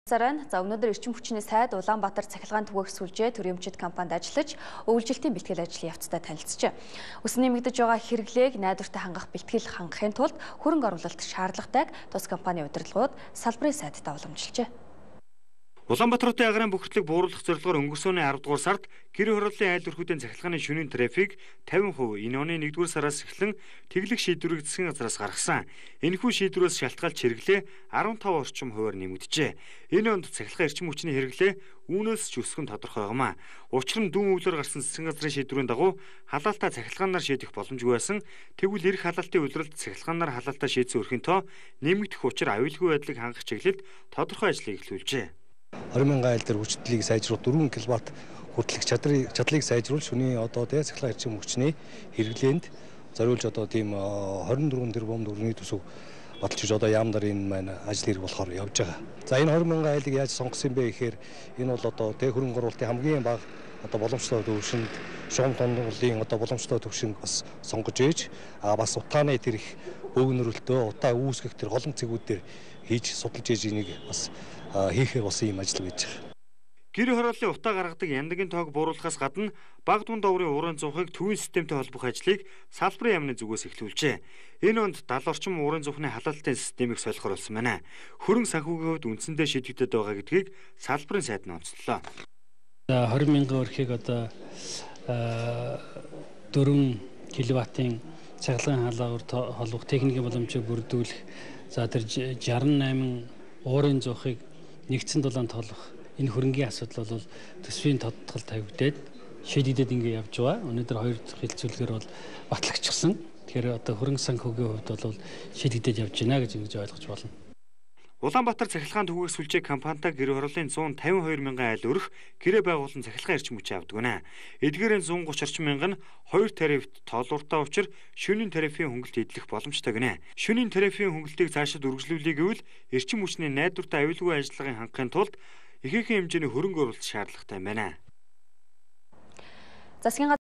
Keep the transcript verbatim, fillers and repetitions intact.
Заран за өнөөдөр эрчим хүчний сайд Улаанбаатар цахилгаан түгээх сүлжээ төрөмчид компанид ажиллаж өвлжилтийн бэлтгэл ажлын явцтай танилцжээ. Өсөн нэмэгдэж байгаа хэрэглээг найдвартай хангах бэлтгэл хангахын тулд хөрөнгө оруулалт шаардлагатайг тус компани удирдлагууд салбарын сайдтай уламжилжээ. Улаанбаатарын агаарын бохирдлыг бууруулах зорилгоор өнгөрсөн арав дугаар сард гэр хорооллын айл өрхүүдийн цахилгааны шөнийн трафик тавин хувь энэ оны нэгдүгээр сараас эхлэн тэглэх шийдвэрийг засгийн газраас гаргасан. Энэхүү шийдвэрээс шалтгаалж хэрэглээ арван тав орчим хувиар нэмэгджээ. Энэ онд цахилгаан эрчим хүчний хэрэглээ үүнээс ч өсөх нь тодорхой юмаа. Учир нь дүүн өвлөөр гарсан засгийн газрын шийдвэрийн дагуу халаалтаа цахилгаанаар шийдэх боломжгүй байсан. Тэгвэл эрх халаалтын улиралд цахилгаанаар халаалтаа шийдсэн өрхийн тоо нэмэгдэх учир аюулгүй байдлыг хангах чиглэлд тодорхой ажлыг эхлүүлжээ. двадцать мянган айл дээр хүчтэйг сайжруулах дөрвөн киловатт хүртэлх чадрыг чадлыг сайжруулж шөнийн одоо тэ цахилгаан эрчим хүчний хэрэглээнд зориулж одоо тийм двадцать дөрвөн тэрбум төгрөгийн төсөв баталж одоо яамдар энэ маань ажил хэрэг болохоор явж байгаа. За энэ двадцать мянган айлыг яаж сонгосон бэ гэхээр энэ бол одоо тэ хөрөнгө оруулалтын хамгийн бага одоо боломжтой төвшөнд шугам тонлын одоо боломжтой төвшинг бас сонгож ээж а бас утааны тэр их бөөгнөрөлтөө утаа үүсгэх тэр голом цэгүүд дээр хийж судалж ээж энийг бас хийхээр бас ийм ажил байж байгаа. Гэр хорооллын утаа гаргадаг яндагийн тоог бууруулахаас гадна баг дунд доогрын уурын зуухыг төвийн системтэй холбох ажлыг салбарын яамны зүгээс эхлүүлжээ. Энэ онд даал орчим уурын зуухны халаалтын системийг солихоор болсон байна. Хөрөнгө санхүүгийн хувьд үндсэндээ шийдэгдээд байгаа гэдгийг салбарын сайд нь онцлолоо. двадцать мянган өрхийг одоо дөрвөн киловаттын цахилгаан хаалгаар холбох техникийн боломжийг бүрдүүлэх за тэр шестьдесят восемь уурын зуухыг нэгдсэн дулаанд толгох энэ хөрөнгийн асуудал бол төсвийн тодтгол тавигдээд шийдэгдээд ингэ явж байгаа. Өнөөдөр хоёр дахь хилцүүлгээр бол батлагчсан. Тэгэхээр одоо хөрөнгө санхүүгийн хувьд бол шийдэгдээд явж байна гэж ингэж ойлгож байна. Улаанбаатар цахилгаан түгээх сүлжээ компанитай гэр хорооллын one fifty-two мянган айл өрх гэрээ байгуулсан цахилгаан эрчим хүчийг авдаг байна. Эдгээрийн one thirty орчим мянган нь хоёр тарифт тоолууртай учир шөнийн тарифын хөнгөлт эдлэх боломжтой гинэ. Шөнийн тарифын хөнгөлтийг цаашид үргэлжлүүлэе гэвэл эрчим хүчний найдвартай аюулгүй ажиллагааг хангахын тулд ихээхэн хэмжээний хөрөнгө оруулалт шаардлагатай байна. Засгийн